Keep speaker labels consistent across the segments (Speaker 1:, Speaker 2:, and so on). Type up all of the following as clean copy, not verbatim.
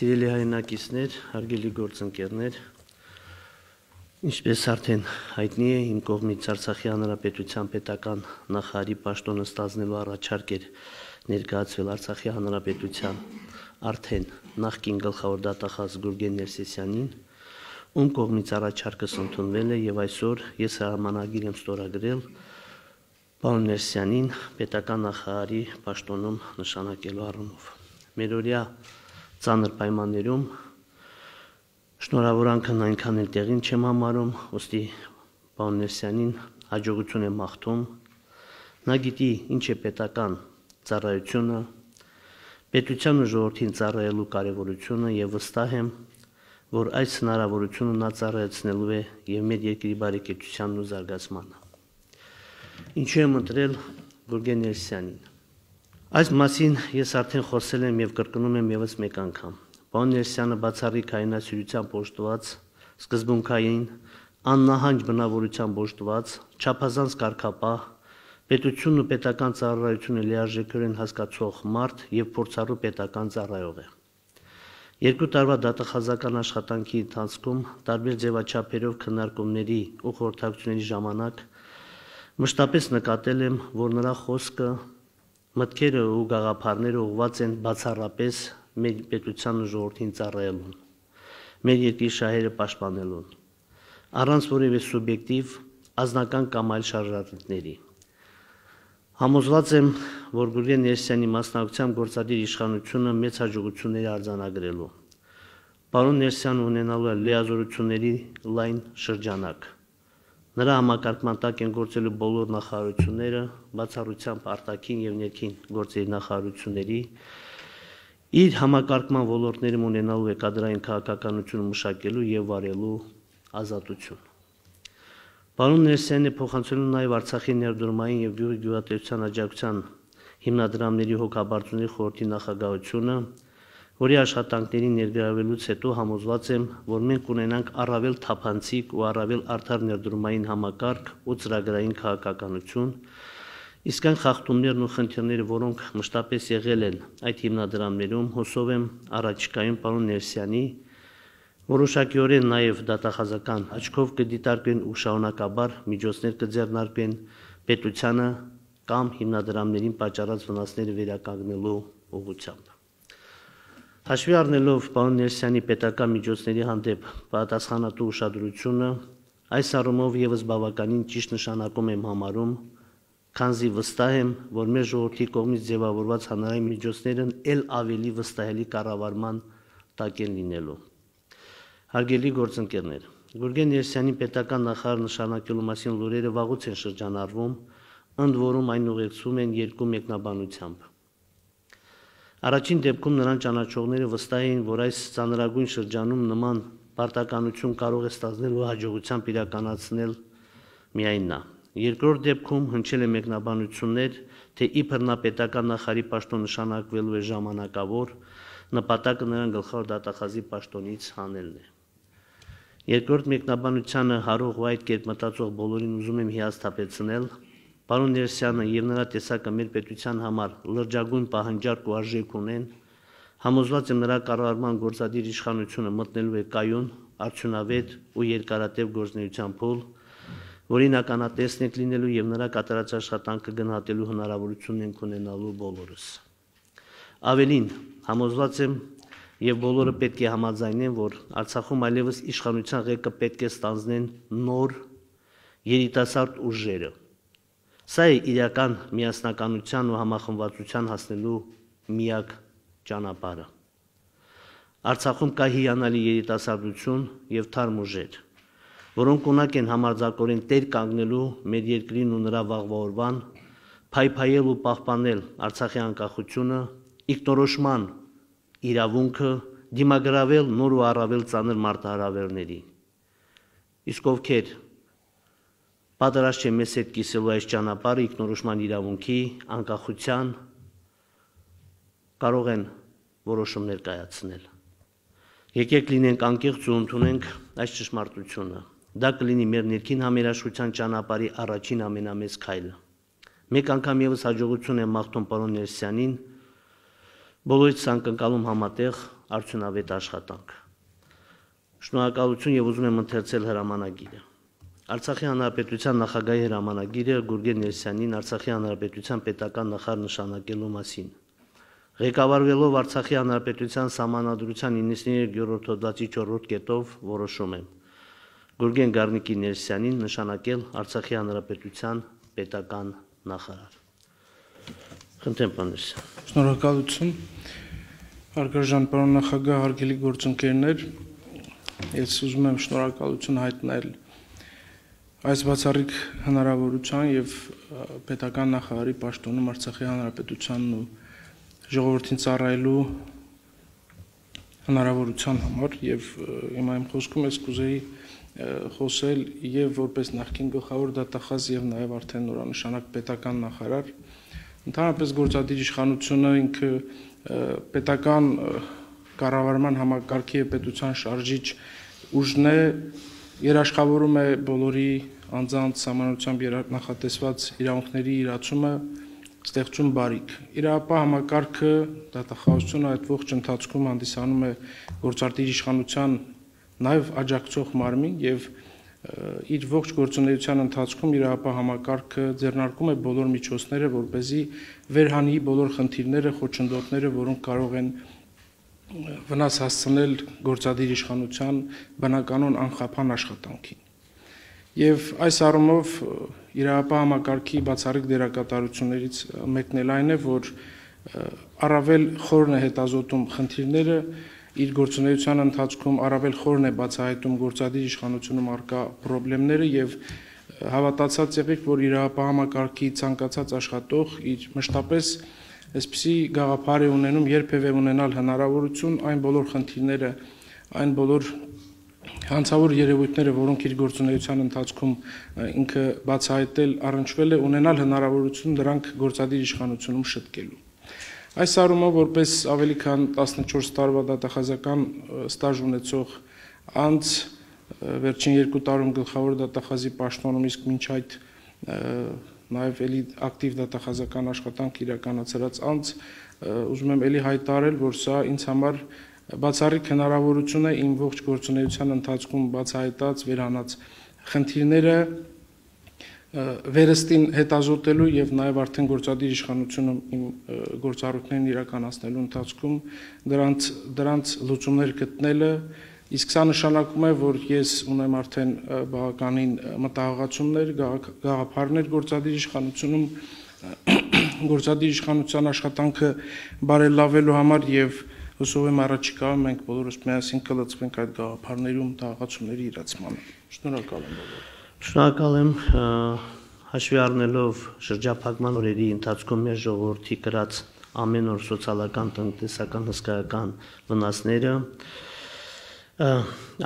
Speaker 1: Սիրելի հայրենակիցներ, հարգելի գործընկերներ, ինչպես արդեն հայտնի է, իմ կողմից Արցախի Հանրապետության պետական նախարարի պաշտոնը ստանձնելու առաջարկ էր ներկայացվել Արցախի Հանրապետության արդեն նախկին գլխավոր դատախազ Գուրգեն Ներսիսյանին, ում կողմից առաջարկս ընդունվել է եւ այսօր ես հրամանագիր եմ ստորագրել պարոն Ներսիսյանին պետական նախարարի պաշտոնում նշանակելու առումով։ Մերօրյա ծանր պայմաններում շնորհավորանքն այնքան էլ տեղին չեմ համարում, ուստի պարոն Ներսիսյանին հաջողություն եմ մաղթում։ Նա գիտի ինչ է պետական ծառայությունը, պետության ու ժողովրդին ծառայելու կարևորությունը եւ վստահ եմ, որ այս հնարավորությունը նա ծառայեցնելու է եւ մեր երկրի բարեկեցությանն ու զարգացմանը։ Ինչու եմ ընտրել Գուրգեն Ներսիսյանին։ Այս մասին ես արդեն խոսել եմ եւ կրկնում եմ եւս մեկ անգամ։ Պարոն Ներսիսյանը բացառիկ հայրենասիրությամբ օժտված, սկզբունքային, աննահանջ բնավորությամբ օժտված, չափազանց կարգապահ, պետությունն ու պետական ծառայությունը լիարժեքորեն հասկացող մարդ եւ փորձառու պետական ծառայող է։ 2 տարվա դատախազական աշխատանքի ընթացքում տարբեր ձևաչափերով քննարկումների ու խորհրդակցությունների ժամանակ մշտապես նկատել եմ, որ նրա խոսքը, մտքերը ու գաղափարները ուղղված են բացառապես մեր պետության ու ժողովրդին ծառայելուն, մեր երկրի շահերը պաշտպանելուն, առանց որևէ սուբյեկտիվ, անձնական կամ այլ շարժառիթների։ Համոզված եմ, որ Գուրգեն Ներսիսյանի մասնակցությամբ գործադիր իշխանությունը մեծ հաջողությունների արձանագրելու։ Պարոն Ներսիսյանը ունենալու է լիազորությունների լայն շրջանակ։ Նրա համակարգման տակ են գործելու բոլոր նախարարությունները, բացառությամբ արտաքին եւ ներքին գործերի նախարարությունների, իր համակարգման ոլորտներում ունենալու է կադրային քաղաքականությունը մշակելու եւ վարելու ազատություն։ Պարոն Ներսիսյանը փոխանցելու նաեւ Արցախի ներդրումային եւ գյուղատնտեսության աջակցության հիմնադրամների հոգաբարձուների խորհրդի նախագահությունը, որի աշխատանքների ներգրավելուց հետո համոզված եմ, որ մենք ունենանք առավել թափանցիկ ու առավել արդար ներդրումային համակարգ ու ծրագրային քաղաքականություն, իսկ այն խախտումներն ու խնդիրները, որոնք մշտապես եղել են այդ հիմնադրամներում, հուսով եմ առաջիկայում պարոն Ներսիսյանի որոշակիորեն նաև դատախազական աչքով կդիտարկվեն ու շարունակաբար միջոցներ կձեռնարկվեն պետությանը կամ հիմնադրամներին պատճառած վնասները վերականգնելու ուղղությամբ։ Հաշվի առնելով պարոն Ներսիսյանի պետական միջոցների հանդեպ պատասխանատու ուշադրությունը, այս առումով եւս բավականին ճիշտ նշանակում եմ համարում, քանզի վստահ եմ, որ մեր ժողովրդի կողմից ձևավորված հանրային միջոցներն ել ավելի վստահելի կառավարման տակ են լինելու։ Հարգելի գործընկերներ, Գուրգեն Ներսիսյանի պետական նախարար նշանակելու մասին լուրերը վաղուց են շրջանառվում, ընդ որում այն ուղեկցվում են 2 մեկնաբանությամբ։ Առաջին դեպքում նրան ճանաչողները վստահ էին, որ այս ծանրագույն շրջանում նման պարտականություն կարող է ստանձնելու հաջողությամբ իրականացնել միայն նա։ Երկրորդ դեպքում հնչել է մեկնաբանություններ, թե իբր նա պետական նախարարի պաշտոն նշանակվելու է ժամանակավոր, նպատակը նրան գլխավոր դատախազի պաշտոնից հանելն է։ Երկրորդ մեկնաբանությանը հարող ու այդ կերպ մտածող բոլորին ուզում եմ հիասթափեցնել, պարոն Ներսիսյանը եւ նրա տեսակը մեր պետության համար լրջագույն պահանջարկ ու արժեք ունեն, համոզված եմ նրա կառավարման գործադիր իշխանությունը մտնելու է կայուն, արդյունավետ ու երկարատև գործունեության փուլ, որին ականատեսն եք լինելու եւ նրա կատարած աշխատանքը գնահատելու հնարավորություն ենք ունենալու բոլորս։ Ավելին, համոզված եմ եւ բոլորը պետք է համաձայնեն, որ Արցախում այլևս իշխանության ղեկը պետք է ստանձնեն նոր երիտասարդ ուժերը։ Սա է իրական միասնականության ու համախմբվածության հասնելու միակ ճանապարհը։ Արցախում կա հիանալի երիտասարդություն եւ թարմ ուժեր, որոնք ունակ են համարձակորեն տեր կանգնելու մեր երկրին ու նրա վաղվա օրվան, փայփայել ու պահպանել Արցախի անկախությունը, ինքնորոշման իրավունքը, դիմագրավել նոր ու առավել ծանր մարտահրավերների։ Իսկ ովքեր պատրաստ չեն մեզ հետ կիսելու այս ճանապարհը ինքնորոշման իրավունքի, անկախության, կարող են որոշումներ կայացնել։ Եկեք լինենք անկեղծ ու ընդունենք այս ճշմարտությունը։ Դա կլինի մեր ներքին համերաշխության ճանապարհի առաջին ամենամեծ քայլը։ Մեկ անգամ եւս հաջողություն եմ մաղթում պարոն Ներսիսյանին, բոլորից անկնկալում համատեղ արդյունավետ աշխատանք։ Շնորհակալություն եւ ուզում եմ ընթերցել հրամանագիրը։ Արցախի հանրապետության նախագահի հրամանագիրը Գուրգեն Ներսյանին Արցախի հանրապետության պետական նախարար նշանակելու մասին։ Ղեկավարվելով Արցախի հանրապետության սահմանադրության 93-րդ հոդվածի 4-րդ կետով որոշում եմ Գուրգեն Գառնիկի Ներսյանին նշանակել Արցախի հանրապետության պետական նախարար։ Խնդրեմ, պարոն Ներսյան։
Speaker 2: Շնորհակալություն։ Հարգարժան պարոն նախագահ, հարգելի գործընկերներ, ես ուզում եմ շնորհակալություն հայտնել այս բացառիկ հնարավորության եւ պետական նախարարի պաշտոնում Արցախի հանրապետությանն ու ժողովրդին ծառայելու հնարավորության համար եւ հիմա իմ խոսքում ես կուզեի խոսել եւ որպես նախկին գլխավոր դատախազ եւ նաեւ արդեն նորանշանակ պետական նախարար ընդհանրապես գործադիր իշխանությունը ինքը պետական կառավարման համակարգի եւ պետության շարժիչ ուժն է երաշխավորում է բոլորի անձանց սահմանությամբ նախատեսված իրավունքների իրացումը ստեղծում բարիք։ Իրապահ համակարգը դատախազությունը այդ ողջ ընթացքում հանդիսանում է գործադիր իշխանության նաև աջակցող մարմին եւ իր ողջ գործունեության ընթացքում իրապահ համակարգը ձեռնարկում է բոլոր միջոցները, որպեսզի վերհանի բոլոր խնդիրները, խոչընդոտները, որոնք կարող են վնաս հասցնել գործադիր իշխանության բնականon անխափան աշխատանքին։ Եվ այս առումով իրապահ համակարգի բացառիկ դերակատարություններից մեկն էլ այն է, որ առավել խորն է հետազոտում խնդիրները, իր գործունեության ընթացքում առավել խորն է բացահայտում գործադիր իշխանությունում առկա խնդիրները եւ հավատացած եղեք, որ իրապահ համակարգի ցանկացած աշխատող իր մշտապես այսպիսի գաղափար է ունենում երբևէ ունենալ հնարավորություն այն բոլոր խնդիրները, այն բոլոր հանցավոր երևույթները, որոնք իր գործունեության ընթացքում ինքը բացահայտել առնչվել է, ունենալ հնարավորություն դրանք գործադիր իշխանությունում շտկելու։ Այս առումով որպես ավելի քան 14 տարվա դատախազական ստաժ ունեցող անձ վերջին 2 տարում գլխավոր դատախազի պաշտոնում, իսկ մինչ այդ նաև էլի ակտիվ դատախազական աշխատանք իրականացրած անձ, ուզում եմ էլի հայտարարել, որ սա ինձ համար բացառիկ հնարավորություն է իմ ողջ գործունեության ընթացքում բացահայտած վերանած խնդիրները վերստին հետազոտելու եւ նաեւ արդեն գործադիր իշխանությունում իմ գործառույթներն իրականացնելու ընթացքում դրանց լուծումներ գտնելը, իսկ սա նշանակում է, որ ես ունեմ արդեն բավականին մտահղացումներ, գաղափարներ գործադիր իշխանությունում գործադիր իշխանության աշխատանքը բարելավելու համար եւ հուսով եմ առաջիկայում մենք բոլորս միասին կլծվենք այդ գաղափարների ու մտահղացումների իրացմանը։ Շնորհակալ եմ բոլորին։
Speaker 1: Շնորհակալ եմ, հաշվի առնելով շրջափակման օրերի ընթացքում մեր ժողովրդի կրած ամեն օր սոցիալական, տնտեսական, հսկայական վնասները,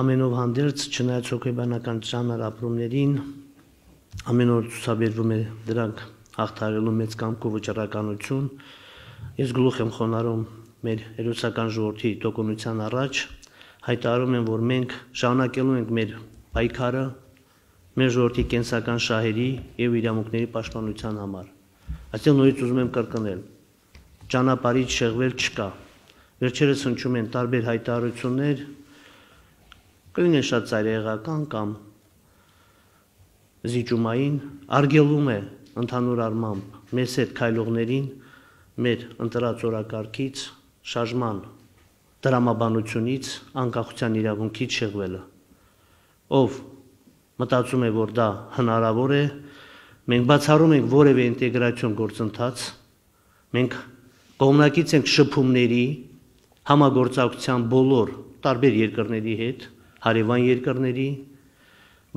Speaker 1: ամենով հանդերձ չնայած հոգեբանական ծանր ապրումներին, ամեն օր ցուցաբերվում է դրանք հաղթահարելու մեծ կամք ու վճռականություն, ես գլուխ եմ խոնարհում մեր հերոսական ժողովրդի տոկունության առաջ, հայտարարում եմ, որ մենք շարունակելու ենք մեր պայքարը մեր ժողովրդի կենսական շահերի եւ իրավունքների պաշտպանության համար։ Այստեղ նորից ուզում եմ կրկնել, ճանապարհից շեղվել չկա։ Վերջերս հնչում են տարբեր հայտարարություններ, կլինեն շատ ծայրահեղական կամ զիջումային, արգելում է ընդհանուր առմամբ մեզ հետ քայլողներին մեր ընտրած օրակարգից, շարժման դրամաբանությունից, անկախության իրավունքից շեղվելը։ Ով մտածում է, որ դա հնարավոր է, մենք բացառում ենք որևէ ինտեգրացիոն գործընթաց, մենք կողմնակից ենք շփումների, համագործակցության բոլոր տարբեր երկրների հետ, հարևան երկրների,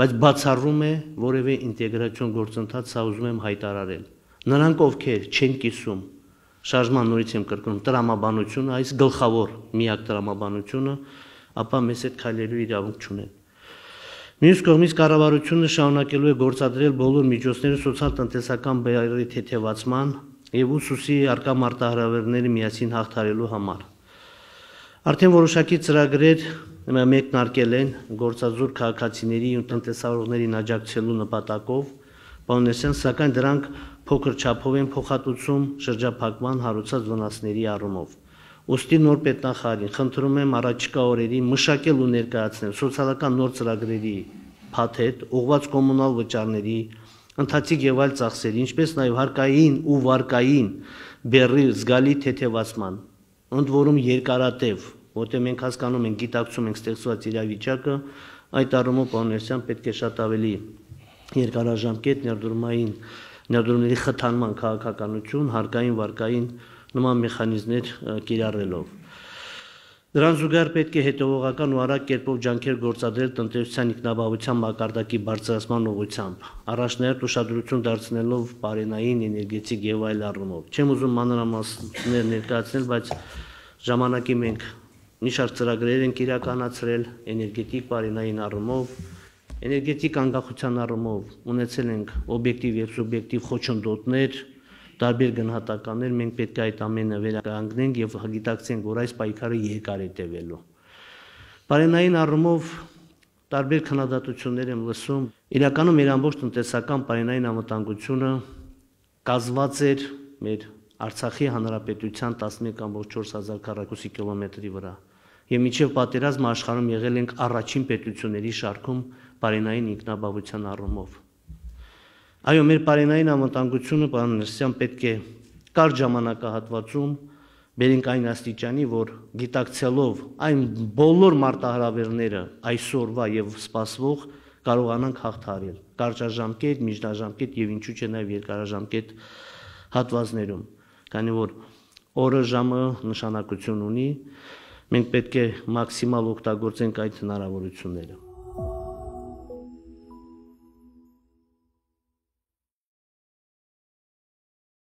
Speaker 1: բայց բացառում է որևէ ինտեգրացիոն գործընթաց, սա ուզում եմ հայտարարել։ Նրանք, ովքեր չեն կիսում շարժման նորից եմ կրկնում տրամաբանությունը, այս գլխավոր միակ տրամաբանությունը, ապա մեզ հետ քայլելու իրավունք չունեն։ Մյուս կողմից կառավարությունը շարունակելու է գործադրել բոլոր միջոցները սոցիալ-տնտեսական բարերի թեթևացման եւ ուսուցի արկա մարտահրավերները միասին հաղթահարելու համար։ Արդեն որոշակի ծրագրեր մեկնարկել են գործազուրկ քաղաքացիների ու տնտեսավարողներին աջակցելու նպատակով, պարոն Ներսյան, սակայն դրանք փոքր չափով են փոխհատուցում շրջափակման հարուցած վնասների առումով։ Ոստի նոր պետնախարարին խնդրում եմ առաջիկա օրերին մշակել ու ներկայացնել սոցիալական նոր ծրագրերի փաթեթ, ուղղված կոմունալ վճարների, ընթացիկ եւ այլ ծախսերի, ինչպես նաեւ հարկային ու վարկային բեռի զգալի թեթևացման, ընդ որում երկարատև, որտեղ մենք հասկանում ենք, գիտակցում ենք ստեղծված իրավիճակը, այդ առումով պարոն պետք է շատ ավելի երկարաժամկետ ներդրումների խթանման քաղաքականություն, հարկային վարկային նման մեխանիզմներ կիրառելով։ Դրան զուգահեռ պետք է հետևողական ու արագ կերպով ջանքեր գործադրել տնտեսության ինքնաբավության մակարդակի բարձրացման ուղղությամբ, առաջնահերթ ուշադրություն դարձնելով բարենային, էներգետիկ եւ այլ առումով։ Չեմ ուզում մանրամասներ ներկայացնել, բայց ժամանակի մենք մի շարք ծրագրեր ենք իրականացրել էներգետիկ բարենային առումով, էներգետիկ անկախության առումով ունեցել ենք օբյեկտիվ եւ սուբյեկտիվ խոչընդոտներ, տարբեր գնահատականներ, մենք պետք է այդ ամենը վերականգնենք եւ գիտակցենք, որ այս պայքարը երկար է տևելու։ Բարենային առումով տարբեր քննադատություններ եմ լսում, իրականում մեր ամբողջ տնտեսական բարենային անվտանգությունը կազմված էր մեր Արցախի հանրապետության 11.4 քառակուսի կիլոմետրի վրա։ Եվ մինչև պատերազմը աշխարհում եղել ենք առաջին պետությունների շարքում բարենային ինքնաբավության առումով։ Այո, մեր բարենային անվտանգությունը, պարոն Ներսյան, պետք է կարճ ժամանակահատվածում բերենք այն աստիճանի, որ գիտակցելով այն բոլոր մարտահրավերները այսօրվա եւ սպասվող կարողանանք հաղթահարել կարճաժամկետ, միջնաժամկետ եւ ինչու՞ չէ նաեւ երկարաժամկետ հատվածներում, քանի որ օրը ժամը նշանակություն ունի, մենք պետք է մաքսիմալ օգտագործենք այդ հնարավորությունները։